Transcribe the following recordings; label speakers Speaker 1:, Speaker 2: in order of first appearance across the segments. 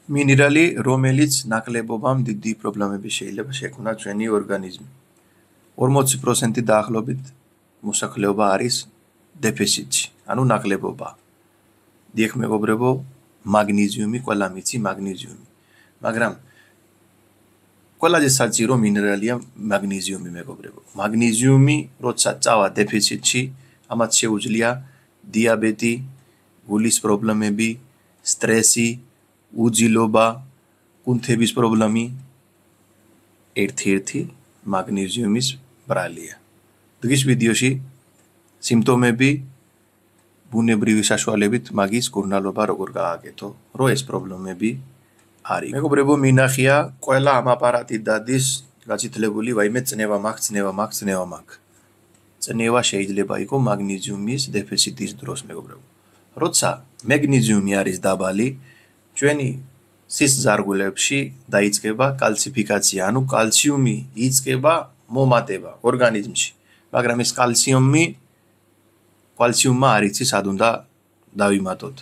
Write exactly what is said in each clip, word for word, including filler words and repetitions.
Speaker 1: მინერალი, რომელიც ნაკლებობამ დიდი პრობლემები შეიძლება შექმნას ჩვენი ორგანიზმი. ორმოცი პროცენტი დაახლოებით მოსახლეობა არის დეფიციტში, ანუ ნაკლებობა. დიახ მეგობრებო, მაგნეზიუმი, ყველა მიცი მაგნეზიუმი. მაგრამ ყველაზე საჭირო მინერალია მაგნეზიუმი მეგობრებო. მაგნეზიუმი, როცა წავა დეფიციტში, ამათ შეუძლია დიაბეტი, გულის პრობლემები, სტრესი, უძილობა, კუნთების პრობლემი ერთ-ერთი მაგნეზიუმის ბრალია. დღის ვიდეოში სიმპტომები ბუნებრივი საშუალებით მაგის კურნალობა როგორ გააკეთო, რო ეს პრობლემები არის. მეგობრებო, მინახია ყველა ამ აპარატით დადის გაცითლებული ვაიმე წნევა მაქვს, წნევა მაქვს, წნევა მაქვს. წნევა შეიძლება იყოს მაგნეზიუმის დეფიციტის დროს მეგობრებო. როცა მაგნეზიუმი არის დაბალი, ჩვენი სისხლძარღვებში დაიწყება კალციფიკაცია, ანუ კალციუმი იწყება მომატება ორგანიზმში. მაგრამ ეს კალციუმი კალციუმმა არ იცის სად უნდა დავიმატოთ.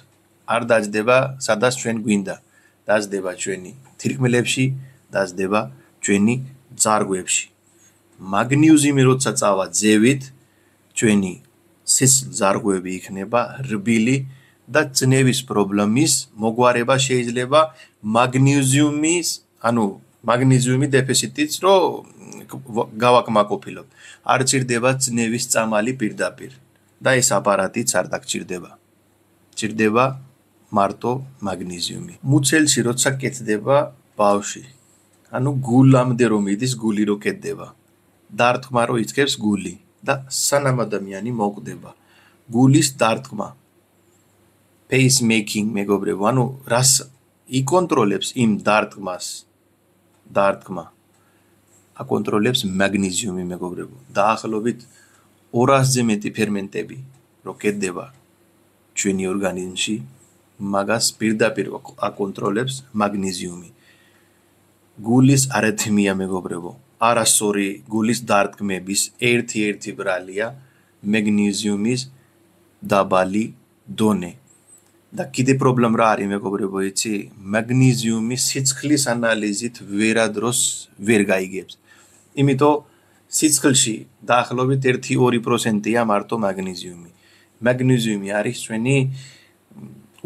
Speaker 1: არ დაждდება სადაც ჩვენ გვინდა. დაждდება ჩვენი თირკმელებში, დაждდება ჩვენი ძარღვებში. მაგნეზიუმი როცა წავა ძევით, ჩვენი სისხლძარღვები იქნება რბილი და წნევის პრობლემის მოგვარება შეიძლება მაგნეზიუმის, ანუ მაგნეზიუმი დეფიციტიც რო გავაკმაყოფილოთ. არ ჭირდება წნევის წამალი პირდაპირ და ეს აპარატიც არ დაგჭირდება. ჭირდება მარტო მაგნეზიუმი. მუცელში როცა კეთდება ბავშვი, ანუ გულამდე რომ იდის, გული რო კეთდება. დარტყმა რო იწყებს გული და სანამ ადამიანი მოკვდება. გულის დარტყმა. Pacemaking მეგობრებო, ანუ რას იკონტროლებს იმ დარტყმას? დარტყმა აკონტროლებს მაგნეზიუმი მეგობრებო. დაახლოებით ორასზე მეტი ფერმენტები რო კეთდება ჩვენი ორგანიზმში, მაგას პირდაპირ აკონტროლებს მაგნეზიუმი. გულის არითმია მეგობრებო, არასწორი გულის დარტყმების ერთ-ერთი ბრალია მაგნეზიუმის დაბალი დონე. და კიდე პრობლემა რა არის მეგობრებო, იცი? მაგნეზიუმი სიცხლის ანალიზით ვერადროს ვერ გაიგებს. იმიტომ სიცხლში დაახლოებით ერთ-ორი პროცენტია მარტო მაგნეზიუმი. მაგნეზიუმი არის ჩვენი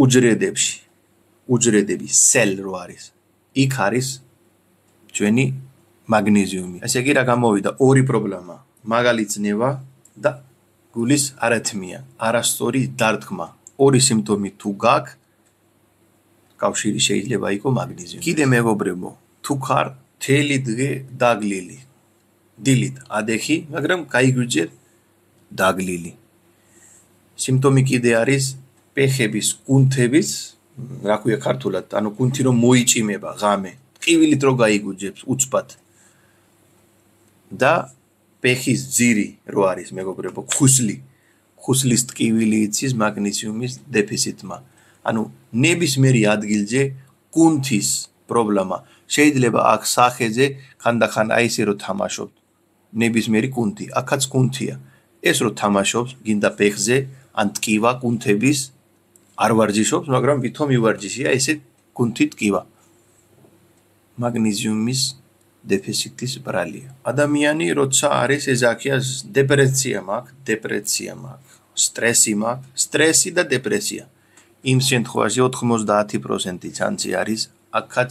Speaker 1: უჯრედებში. უჯრედები, სელ რო არის. იქ არის ჩვენი მაგნეზიუმი. ესე იგი რა გამოვიდა? ორი პრობლემა. მაგალი წნევა და გულის არითმია, არასწორი დარტყმა. ორი სიმპტომი თუ გაქვს, კავშირი შეიძლება იყოს მაგნეზიუმი. კიდე მეგობრებო, თუ ხარ მთელი დღე დაგლილი, დილით ადეხი, მაგრამ გაიგვიჯერ დაგლილი. სიმპტომი კიდე არის ფეხების, კუნთების, რა ქვია ქართულად, ანუ კუნთი რომ მოიჭიმება ღამე, ტკივილით რო გაიგვიჯებს უცბად. და ფეხის ძირი რო არის მეგობრებო, ხუსლი. ხუსლის ტკივილი იცის მაგნეზიუმის დეფიციტმა. ანუ ნებისმიერი ადგილზე კუნთის პრობლემა. შეიძლება აქ სახეზე ხანდახან აი ესე რო თამაშობ. ნებისმიერი კუნთი, აქაც კუნთია. ეს რო თამაშობს, გინდა ფეხზე, ან ტკივა კუნთების არ ვარჯიშობს, მაგრამ ვითომ ივარჯიშია ესე კუნთი ტკივა. მაგნეზიუმის დეფიციტის ბრალია. ადამიანი როცა არის ეძახია დეპრესია მაქვს, დეპრესია მაქვს, სტრესი მაქვს, სტრესი და დეპრესია. იმ შემთხვევაში ოთხმოცდაათი პროცენტი ჩანსი არის აქაც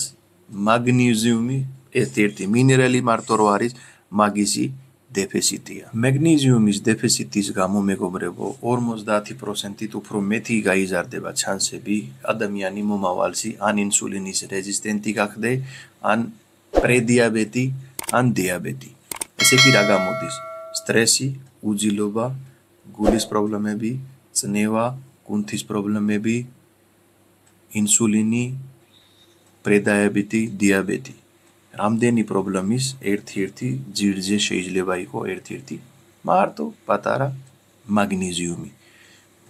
Speaker 1: მაგნეზიუმი ერთ-ერთი მინერალი მარტო რო არის მაგისი დეფიციტია. მაგნეზიუმის დეფიციტის გამო მეგობრებო, ორმოცდაათი პროცენტით უფრო მეტი გაიზარდება ჩანსები ადამიანი მომავალში ან ინსულინის რეზისტენტი გახდე, ან პრედიაბეტი, ან დიაბეტი. ესე იგი რა გამოდის? სტრესი, უძილობა, გულის პრობლემები, წნევა, კუნთის პრობლემები, ინსულინი, პრედიაბეტი, დიაბეტი. რამდენი პრობლემის ერთ-ერთი ძირზე შეიძლება იყოს ერთ-ერთი მარტო პატარა მაგნეზიუმი.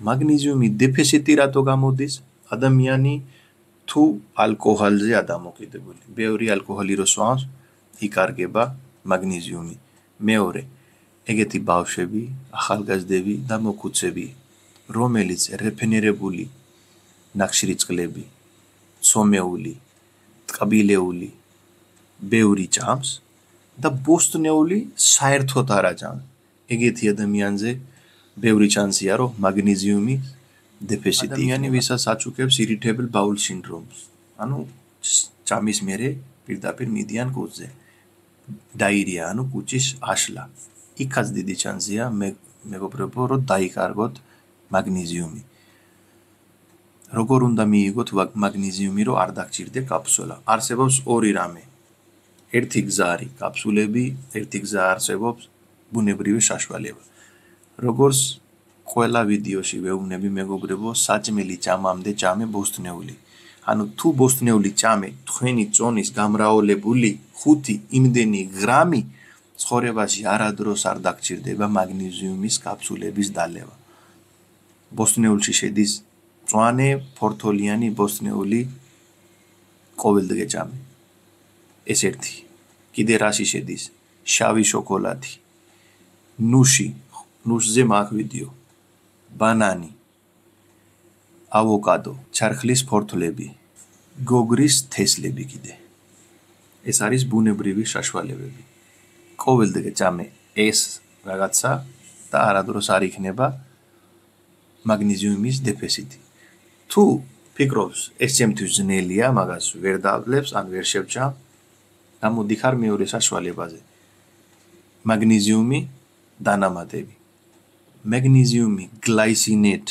Speaker 1: მაგნეზიუმი დეფიციტი რატო გამოდის? ადამიანი თუ ალკოჰოლზე ადამოკიდებული. ბევრი ალკოჰოლი რო სვამს, იკარგება მაგნეზიუმი. მეორე, ეგეთი ბავშვები, ახალგაზრდები და მოქუცები, რომელიც რეფენერებული ნახშირი წყლები, ცომეული, წყბილეული ბევრი ჭამს და ბოსტნეული საერთოდ არ აჭამს. ეგეთი ადამიანზე ბევრი ჩანსია, რომ მაგნეზიუმი დეფიციტი. ადამიანი ვისაც აჩუქებს irritable bowel syndrome-ს. ანუ ჭამის მერე პირდაპირ მიდიან კუჭზე. დაირია, ანუ კუჭის აშლა. იქაც დიდი ჩანსია მეგობრებო, რომ დაიკარგოთ მაგნეზიუმი. როგორ უნდა მიიღოთ მაგნეზიუმი, რომ არ დაგჭირდე კაფსულა? არსებობს ორი რამე. ერთი გზა არის კაფსულები, ერთი გზა არსებობს ბუნებრივი საშუალება. როგორც ყველა ვიდეოში ვეუბნები მეგობრებო, საჭმელი ჭამამდე ჭამე ბოსტნეული. ანუ თუ ბოსტნეული ჭამე თქვენი წონის გამრავლებული ხუთი იმდენი გრამი ცხოვრებაში არადროს არ დაგჭირდება მაგნეზიუმის კაფსულების დალევა. ბოსტნეულში შედის მწვანე ფორთოლიანი ბოსტნეული ყოველდღე ჭამე. ეს ერთი. კიდე რაში შედის? შავი შოკოლადი, ნუში, ნუშზე მაგ ვიდეო, ბანანი, ავოკადო, ჩარხლის ფორთლები, გოგრის თესლები კიდე. ეს არის ბუნებრივი საშუალებები. ყოველდღე ჭამე ეს რაღაცა და არადროს არ იქნება მაგნეზიუმის დეფიციტი. თუ ფიქრობს ეს ჩემთვის ძნელია, მაგას ვერ დავლებს, ან ვერ შევჭამ, გამოდიხარ მეორე საშუალებაზე. მაგნეზიუმი დანამატები. მაგნეზიუმი გლაისინატ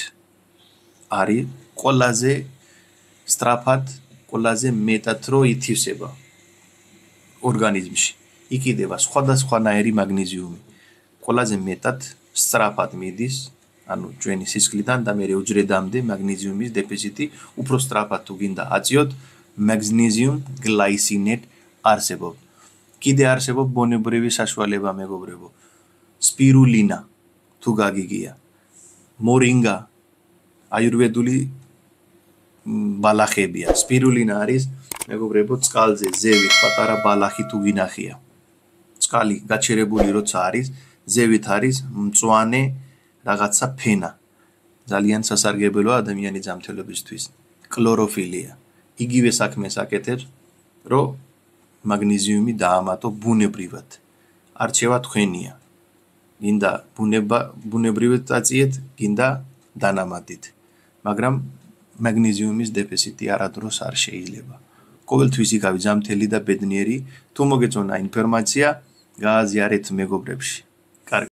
Speaker 1: არის ყველაზე სწრაფად, ყველაზე მეტად რო ითვისება ორგანიზმში. იქიდება სხვადასხვანაირი მაგნეზიუმი. ყველაზე მეტად სწრაფად მიდის, ანუ ჩვენი სისხლიდან და მე უჯრედამდე მაგნეზიუმის დეფიციტი უფრო სწრაფად თუ გინდა აწიოთ, მაგნეზიუმ გლაისინატ არსებობს. კიდე არსებობს ბუნებრივი საშუალება მეგობრებო. სპირულინა თუ გაგიგია. მორინგა აიურვედული ბალახებია. სპირულინა არის მეგობრებო წყალზე ზევით პატარა ბალახი თუ გინახია. წყალი გაჩერებული როცა არის, ზევით არის მწვანე რაღაცა ფენა. ძალიან სასარგებლოა ადამიანის ჯანმრთელობისთვის. კლოროფილია. იგივე საქმეს აკეთებს, რომ მაგნეზიუმი დაამატო ბუნებრივად. არჩევა თქვენია. გინდა ბუნება ბუნებრივად წაწიეთ, გინდა დანამატით. მაგრამ მაგნეზიუმის დეფიციტი არადროს არ შეიძლება. ყოველთვის იგავი ჯანმრთელი და ბედნიერი. თუ მოგეწონა ინფორმაცია, გააზიარეთ მეგობრებში.